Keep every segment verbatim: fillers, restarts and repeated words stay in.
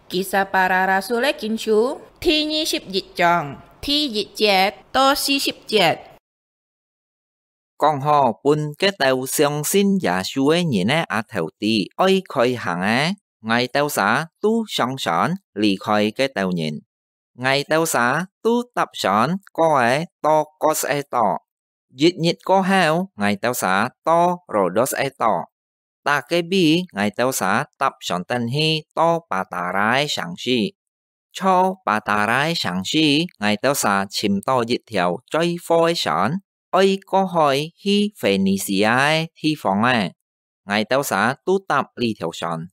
Kisah Para Rasul-é Kincu，第二十一章，第一節到四十節。講好分該兜相信耶穌个人个阿頭知，愛開行个，𠊎兜儕都上船離開該兜人。𠊎兜儕都搭船過仔到各色个島。一日過後，𠊎兜儕到羅多色个島。 搭該位，𠊎兜儕搭船等去到巴達拉个城市。在巴達拉个城市，𠊎兜儕尋到一條載貨个船，愛過海去腓尼西亞个地方仔。𠊎兜儕都搭這條船。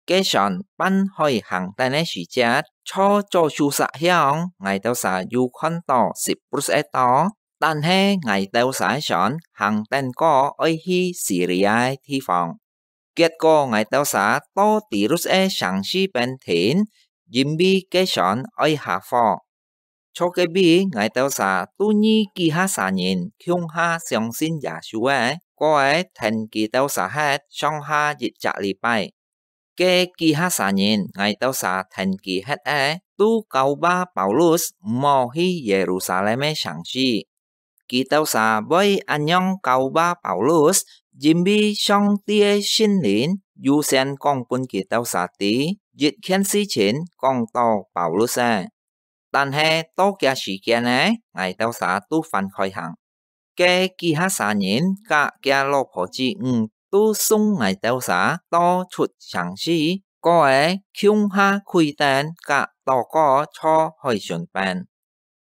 該船半海行等个時節，在左手煞向，𠊎兜儕又看到Siprus个島， 但係𠊎兜儕个船行等過愛去Siria个地方。結果𠊎兜儕到Tirus个城市邊停，因為該船愛下貨。在該位，𠊎兜儕都遇幾下儕人共下相信耶穌个，過仔跈佢兜儕歇上下一隻禮拜。 該幾下儕人，𠊎兜儕跈佢歇仔，都教化Paulus毋好去Yerusalem个城市。佢兜儕會恁樣教化Paulus，因為上帝个聖靈預先講分佢兜儕知，一件事情講到Paulus个。 但係到厥時間仔，𠊎兜儕都翻開行。該幾下儕人佮厥老婆子女都送𠊎兜儕到出城市，過仔共下跪等佮禱告在海脣邊。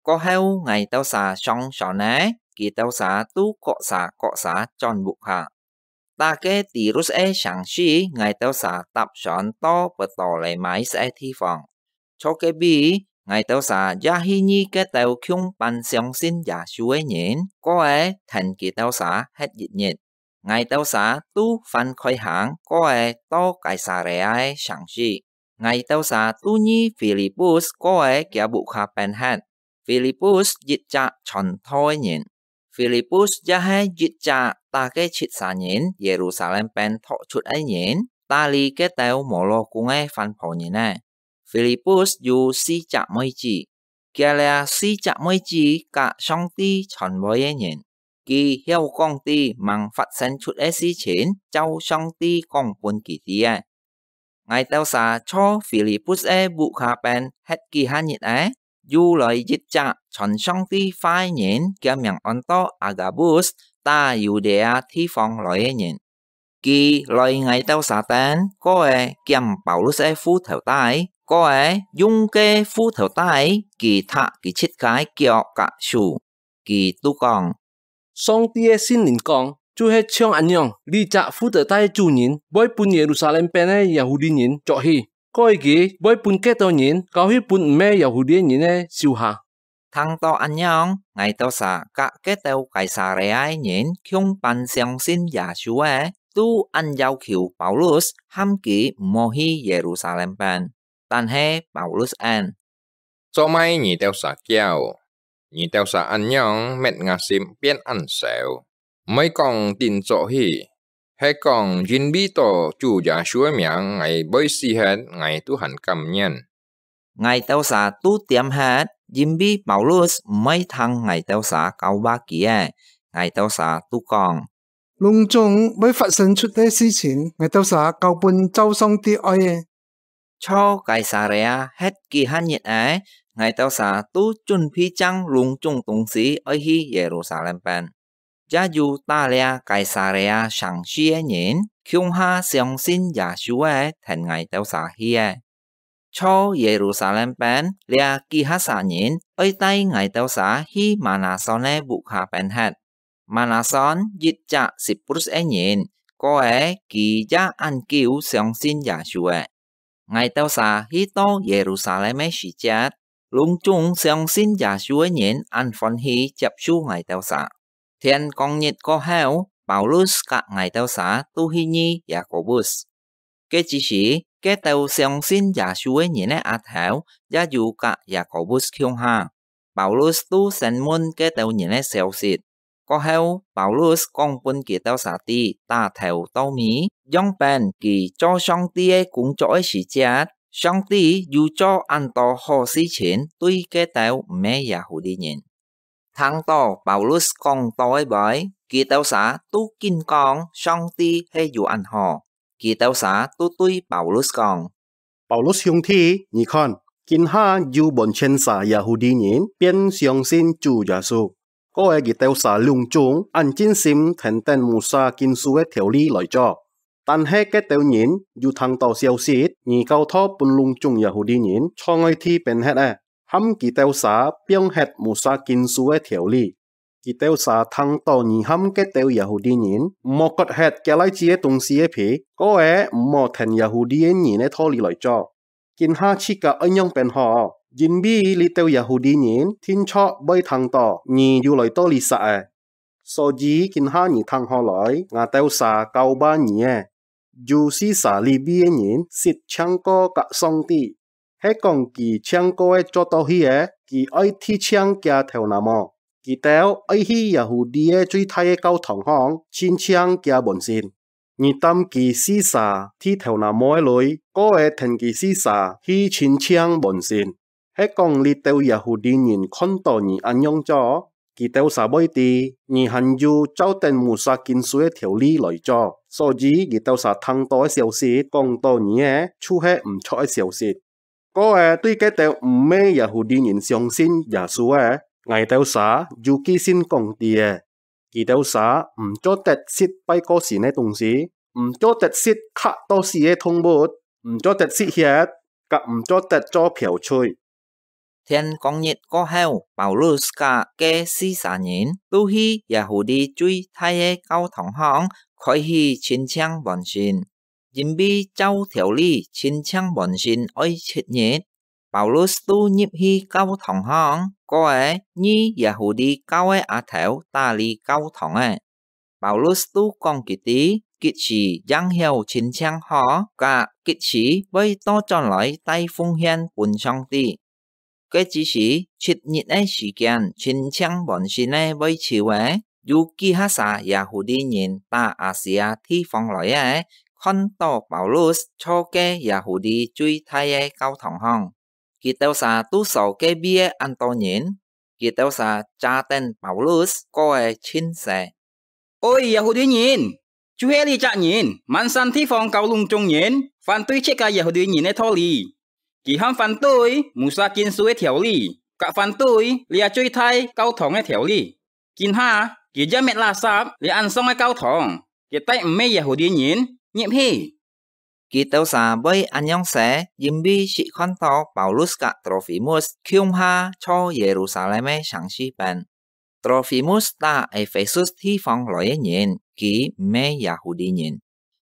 過後𠊎兜儕上船仔，佢兜儕都各儕各儕轉屋下。 搭該Tirus个城市，𠊎兜儕搭船到Ptolemais个地方。在該位，𠊎兜儕也去遇該兜共般相信耶穌个人，過仔跈佢兜儕歇一日。𠊎兜儕都翻開行，過仔到該撒利亞个城市。 𠊎兜儕都遇Filipus過仔厥屋下邊歇。Filipus一隻傳道个人。Filipus也係一隻搭該七儕人Yerusalem邊逃出个人，搭理該兜無老公个番婆人仔。Filipus有四隻妹子，厥這四隻妹子佮上帝傳話个人，佢曉講知吂發生出个事情，照上帝講分佢知个。 𠊎兜儕在Filipus个屋下邊歇幾下日仔，又來一隻傳上帝話个人，厥名安到Agabus，搭Yudea地方來个人。佢來𠊎兜儕等，過仔撿Paulus个褲頭帶，過仔用該褲頭帶佢䌈佢自家个腳佮手。 佢都講：「上帝个聖靈講，就係像恁樣，這隻褲頭帶个主人會分Yerusalem邊个Yahudi人著去，過佢會分該兜人交去分毋係Yahudi人个手下。」聽到恁樣，𠊎兜儕佮該兜該撒利亞个人共般相信耶穌个，都恁要求Paulus，喊佢毋好去Yerusalem邊。但係Paulus應： 做麼个你兜儕噭？你兜儕恁樣搣吾心變恁愁，毋會講定著去，係講因為到主耶穌个名𠊎會死忒，𠊎都還甘願。𠊎兜儕都恬忒，因為Paulus毋會聽𠊎兜儕教話佢个。𠊎兜儕都講： 「攏總會發生出个事情，𠊎兜儕交分照上帝愛个。」在該撒利亞歇幾下日仔，𠊎兜儕都準備正攏總東西愛去Yerusalem邊。也有搭這該撒利亞城市个人，共下相信耶穌个，跈𠊎兜儕去个。 在Yerusalem邊，這幾下儕人愛帶𠊎兜儕去Manason个屋下邊歇。Manason一隻Siprus个人，過仔佢也恁久相信耶穌个。𠊎兜儕去到Yerusalem个時節，攏總相信耶穌个人恁歡喜接受𠊎兜儕。 天光日過後，Paulus佮𠊎兜儕都去遇Yakobus。該之時，該兜相信耶穌个人个阿頭也有佮Yakobus共下。Paulus都先問該兜人个消息。過後，Paulus講分佢兜儕知打頭到尾，樣般佢做上帝个工作个時節，上帝有做恁多好事情對該兜毋係Yahudi人。聽到Paulus講到个話，佢兜儕都緊講上帝係有恁好。佢兜儕都對Paulus講：「Paulus兄弟，你看，今下有完全儕Yahudi人變相信主耶穌，過个佢兜儕攏總恁盡心跈等Musa經書个條理來做。但係該兜人有聽到消息，你教導分攏總Yahudi人坐愛地變忒了，含佢兜儕放忒Musa經書个條理。佢兜儕聽到你含該兜Yahudi人毋好割忒佢倈子个東西个皮，過个毋好跈Yahudi个人个道理來做。今下自家愛仰般好？因為這兜Yahudi人定著會聽到你有來到這煞仔。所以今下你聽好來，𠊎兜儕教吧你仔。有四儕利未个人識淨過佮上帝，係講佢淨過个做到去个，佢愛剃淨厥頭那毛。佢兜愛去Yahudi个最大个教堂項，親淨厥門神。你擔佢四儕剃頭那毛个累，過个跈佢四儕去親淨門神。係講這兜Yahudi人看到你恁樣做，佢兜儕會知，你還有照等Musa經書个條理來做，所以佢兜儕聽到个消息講到你个，就係毋著个消息。過个對該兜毋係Yahudi人相信耶穌个，𠊎兜儕有寄信講知个。佢兜儕毋做得食拜過神个東西，毋做得食刻到死个動物，毋做得食血，佮毋做得做嫖妓。」天光日過後，Paulus佮該四儕人都去Yahudi最大个教堂項，開始親淨門神。因為照條理，親淨門神愛七日，Paulus都入去教堂項，過个，二Yahudi教个阿頭打理教堂仔。Paulus都講佢知，幾時應曉親淨好，佮幾時會倒轉來帶奉獻分上帝。該之時，七日个時間，親淨門神个會晝仔，有幾下儕Yahudi人打Asia地方來个，看到Paulus坐該Yahudi最大个教堂項。佢兜儕都數該位个恁多人，佢兜儕遮等Paulus，過个盡勢。「Oi，Yahudi人，就係這隻人，滿山地方教攏總人，反對自家Yahudi人个道理。佢還反對Musa經書个條理，佮反對這最大教堂个條理。今下，佢也搣垃圾這恁喪个教堂，佢帶毋係Yahudi人入去。」佢兜儕會恁樣勢，因為識看到Paulus佮Trofimus共下坐Yerusalem个城市邊。Trofimus打Ephesus地方來个人，佢毋係Yahudi人。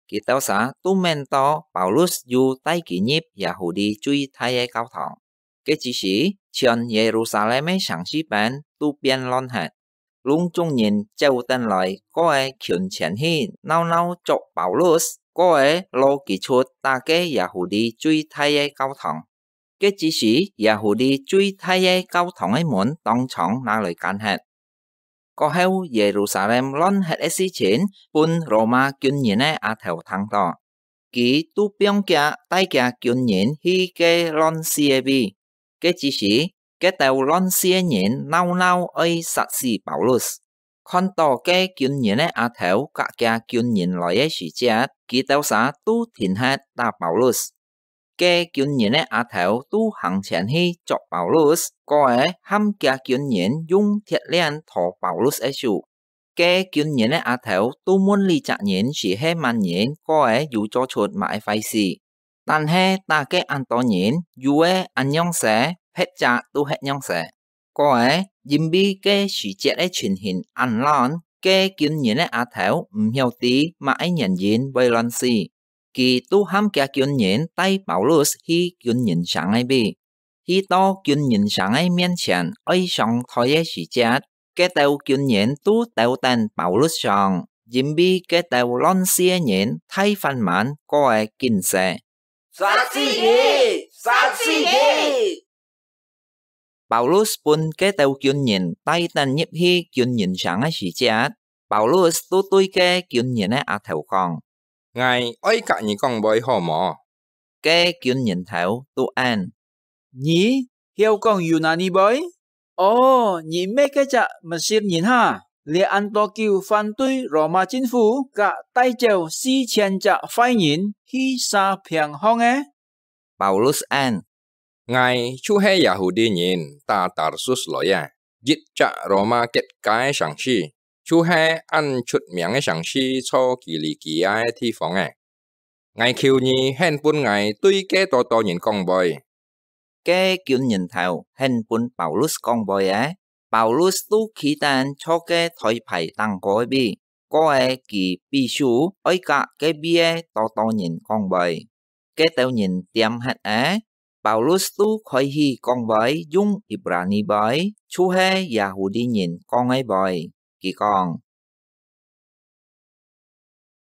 佢兜儕都愐到Paulus有帶佢入Yahudi最大个教堂。該之時，全Yerusalem个城市邊都變亂忒。攏總人走等來，過个群前去鬧鬧捉Paulus，過个摎佢出打該Yahudi最大个教堂。該之時，Yahudi最大个教堂个門當場拿來關忒。過後，Yerusalem亂忒个事情，分羅馬軍人个阿頭聽到。佢都放厥帶厥軍人去該亂死个位。該之時，該兜亂死个人鬧鬧愛殺死Paulus。看到該軍人个阿頭佮厥軍人來个時節，佢兜儕都停忒打Paulus。該軍人个阿頭都行前去捉Paulus，過个，喊厥軍人用鐵鏈綯Paulus个手。該軍人个阿頭都問這隻人係係麼人，過个，有做出麼个壞事。但係打該恁多人，有个恁樣勢，別隻都係恁樣勢。過个，因為該時節个情形恁亂，該軍人个阿頭毋曉知麼个原因會亂死。佢都喊厥軍人帶Paulus去軍人城个位。去到軍人城个面前愛上台个時節，該兜軍人都兜等Paulus上，因為該兜亂死个人大番蠻，過个緊勢。「殺死佢！殺死佢！」Paulus分該兜軍人帶等入去軍人城个時節，Paulus都對該軍人个阿頭講：「𠊎愛佮你講話好無？」該軍人頭都應：「你曉講Yunani話？哦，你毋係該隻Mesir人哈？你恁多久反對羅馬政府，甲帶走四千隻壞人去沙平巷个？」Paulus應：「𠊎就係Yahudi人，打Tarsus來个，一隻羅馬結界个城市，就係恁出名个城市，在Kilikia个地方个。 𠊎求你，肯分𠊎對該多多人講話。」該軍人頭肯分Paulus講話个，Paulus都企等在該台牌頂高个位，過个佢比手愛甲該位个多多人講話。該兜人恬忒个，Paulus都開始講話，用Ibrani話，就係Yahudi人講个話。佢講：